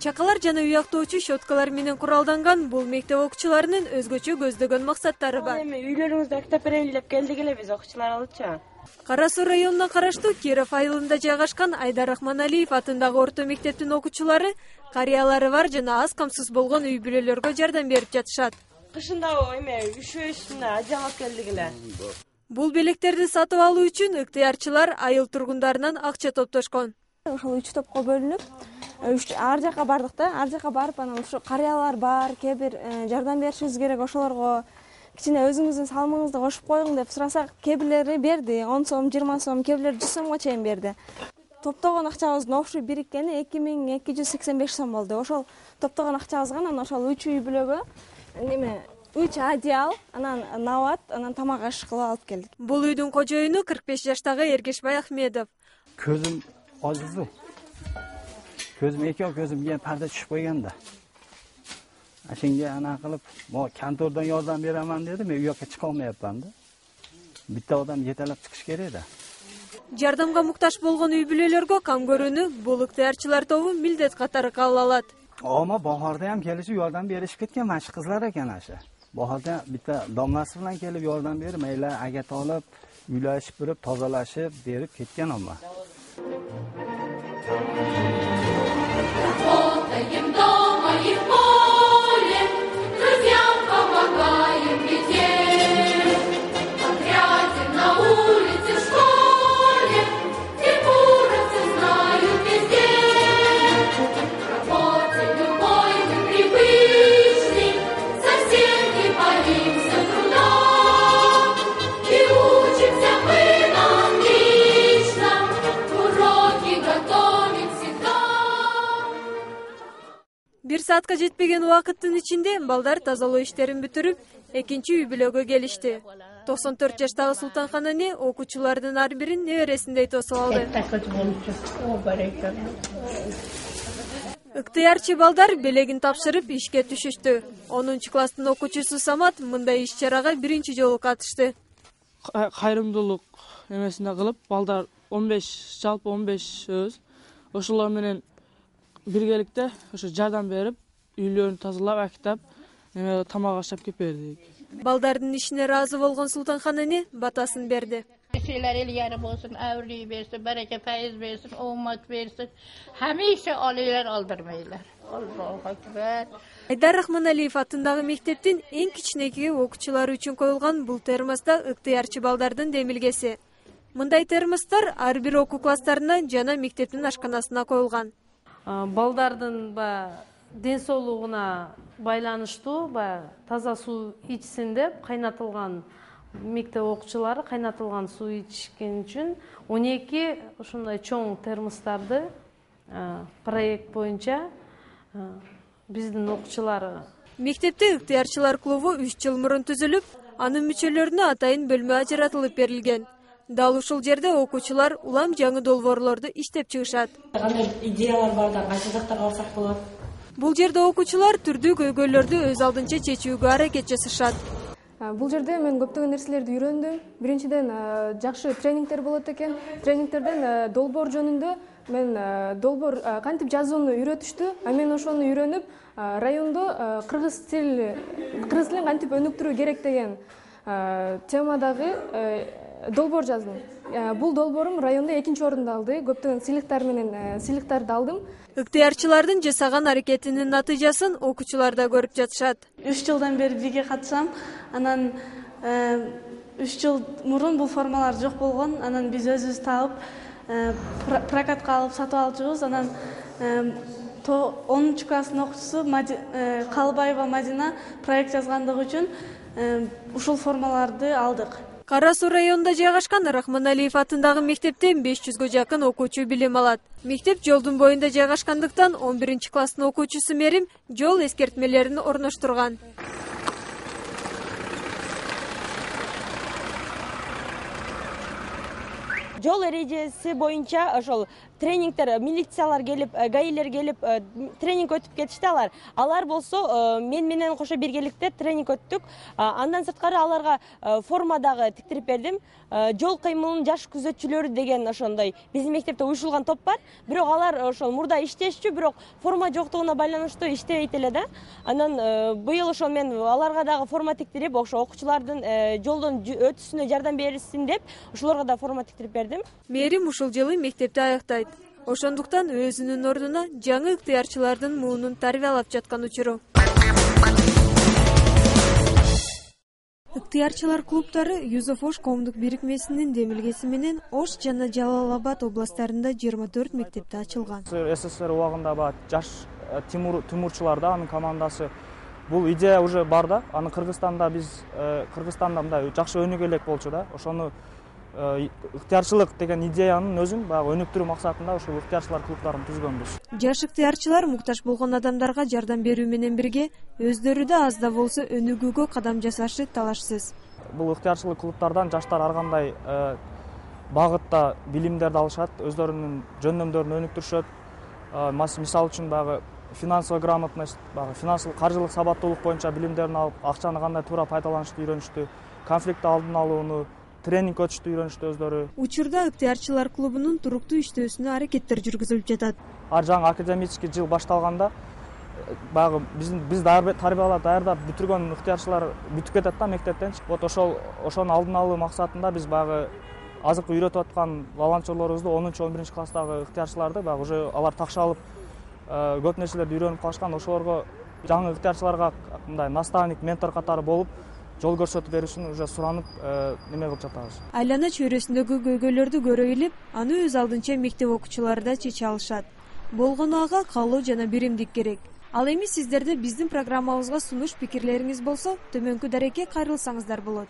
Чакалар жана уяктоочу щеткалар менен куралданган бул мектеп окуучуларынын өзгөчө көздөгөн максаттары бар. Эми үйлөрүңүздө китап берели деп келдик эле биз окуучулар алычы. Кара Суу районуна караштуу Киров айылында жайгашкан Айдар Рахманалиев атындагы орто мектептин окуучулары карыялары бар жана аз камсыз болгон үй бүлөлөргө жардам берип жатышат. Кышында эме üşүшүнө ажал алып келдик эле. Бул белектерди сатып алуу үчүн ыктыярчылар айыл тургундарынан акча топтошкон. Ошол 3 топко бөлүнүп, ар жака бардык да. Ар жака барып, анан ушу карыялар бар, кээ бир жардам беришибиз керек, ошолорго кичине өзүңүздүн салымыңызды кошуп коюң деп сурасак, кээ бирлери берди, 10 сом, 20 сом, кээ бирлери 100 сомго чейин берди. Топтогон акчабыздын общий бириккени 2285 сом болду. Ошол топтогон акчабызга анан ошол 3 үй бүлөгө неме 3 одеял, анан нават, анан тамак аш кылып алып келдик. Бул үйдүн кожоюну 45 жаштагы Эргешбай Ахмедов. Көзүм азызды. Көзүм көзүмгө парда түшүп койгон да. Ашинге ана кылып, mo kantordan yordam beraman dedi, men u yoqqa chiqa olmayapman da. Bitta odam yetalab chiqish kerak da. Жардамга муктаж болгон үй бүлөлөргө кам көрүүнү бул ыктыярчылар тобу милдет катары кабыл алат. Ama bahorda ham kelishib yordam berishib ketgan mana shu qizlar ekan asha. Bahorda bitta domlasi bilan kelib yordam berib, mayli agat olib, uylashib turib, tozalashib berib ketgan amma. Бир саатка жетпеген убакыттын ичинде балдар тазалоо иштерин бүтүрүп, экинчи үй бүлөгө келишти. 94 жаштагы Султанхан эне окуучулардын ар бирин небересиндей тосуп алды. Ыктыярчы балдар белегин тапшырып ишке түшүштү. 10 класстын окуучусу Самат мындай иш-чарага биринчи жолу катышты. Кайрымдуулук эмесине кылып, балдар 15, жалпы 15 өз. Ошолор менен биргеликте ошо жардам берип, үйлөрүн тазалап, актап, тамак ашап кеп бердик. Балдардын ишине ыраазы болгон Султанхан эне батасын берди. Şeyler el yarı olsun, ömrü versin, bereket faiz versin, umut versin. Hemeyse alıyorlar, aldırmayırlar. Allah'a ekber. Айдар Рахманалиев атындагы мектептин эң кичинекей окуучулары үчүн коюлган бул термоста ыктыярчы балдардын демилгеси. Мындай термостор ар бир окуу класстарына жана мектептин ашканасына коюлган. Балдардын ден соолугуна байланыштуу таза суу ичсин деп кайнатылган мектеп окуучулары кайнатылган суу ичкен үчүн 12 ушундай чоң термостарды проект боюнча биздин окуучулар. Мектепте ыктыярчылар клубу 3 жыл мурун түзүлүп, анын мүчөлөрүнө атайын бөлмө ажыратылып берилген. Дал ушул жерде окуучулар улам жаңы долбоорлорду иштеп чыгышат. Кандай идеялар бар да, кайсы жактарга барсак болот? Бул жерде окуучулар түрдүү көйгөйлөрдү өз алдынча чечүүгө аракет жасашат. Бул жерде мен көптөгөн нерселерди үйрөндүм. Биринчиден жакшы тренингдер болот экен. Тренингтерден долбоор жөнүндө мен долбоор кантип жазууну үйрөтүштү. Мен ошону үйрөнүп, райондо кыргыз тилин кантип өнүктүрүү керек деген темадагы долбоор жаздым. Бул долбоорум райондо 2-орунду алды. Көптөгөн сыйлыктарды алдым. Ыктыярчылардын жасаган аракетинин натыйжасын окуучулар да көрүп жатышат. 3 жылдан бери бирге катышам. Анан 3 жыл мурун бул формалар жок болгон. Анан биз өзүбүз таап прокатка алып сатып алчубуз. Анан 10 класстын окуучусу Калбаева Мадина проект жазгандыгы үчүн ушул формаларды алдык. Кара Суу районунда жайгашкан Рахманалиев атындагы мектептен 500гө жакын окуучу билим алат. Мектеп жолдун боюнда жайгашкандыктан 11 класстын окуучусу Мерим жол эскертмелерин орноштурган. жол эрежеси боюнча ошол тренингдер, милициялар келип, гаилер келип тренинг өтүп кетишти алар болсо мен менен кошо биргеликте тренинг өттүк. Андан сырткары аларга форма дагы тиктирип бердим. Жол кыймылынын жаш күзөтчүлөрү деген ошондой биздин мектепте уюшулган топ бар. Бирок алар ошол мурда иштешчү, бирок форма жоктугуна байланыштуу иштебейт эле да. Анан быйыл ошол мен аларга дагы форма тиктирип, ошо окуучулардын жолдон өтүшүнө жардам берсин деп, ошолорго да форма тиктирип бердим. Мээрим ушул жылы мектепти аяктайт. Ошондуктан өзүнүн ордуна жаңы ыктыярчылардын муунун тарбиялап жаткан учуру. Ыктыярчылар клубтары Юзеф Ош коомдук бирикмесинин демилгеси менен Ош жана Жалал Абад областарында 24 мектепте ачылган. СССР убагында жаш Тимурчулар да анын командасы бул идея уже бар да. Аны Кыргызстанда мындай жакшы өнүгө элек болчу да. Ошону ыктыярчылык деген идеянын өзүн баягы өнүктүрүү максатында ушул ыктыярчылар клубтарын түзгөнбүз. Жаш ыктыярчылар муктаж болгон адамдарга жардам берүү менен бирге өздөрү да аз да болсо өнүгүүгө кадам жасашы талашсыз. Бул ыктыярчылык клубтардан жаштар ар кандай багытта билимдерди алышат, өздөрүнүн жөндөмдөрүн өнүктүрүшөт. Мисалы үчүн баягы финансовый грамотность, финансылык каржылык сабаттуулук боюнча билимдерин алып, акчаны кандай туура пайдаланышты үйрөнүштү, конфликт алдын алууну, тренинг өтүштү үйрөнүштү өздөрү. Учурда ыктыярчылар клубунун туруктуу иштөөсүнө аракеттер жүргүзүлүп жатат. Жаңы академический жыл башталганда баягы биз даярдап бүтүргөн ыктыярчылар бүтүп кетет да мектептен. Вот ошону алдын алуу максатында биз баягы азыркы үйрөтүп аткан волонтерлорубузду 10-11 класстагы ыктыярчыларды баягы уже алар такшалып көп нерселерди үйрөнүп калышкан. Ошолорго жаңы ыктыярчыларга мындай наставник, ментор катары болуп жол көрсөтүп беришин уже суранып неме кылып жатабыз. Айлана чөйрөсүндөгү көйгөйлөрдү көрө билип, аны өз алдынча мектеп окуучулары да чече алышат. Болгону ага каалоо жана биримдик керек. Ал эми сиздерде биздин программабызга сунуш пикирлериңиз болсо, төмөнкү дарекке кайрылсаңыздар болот.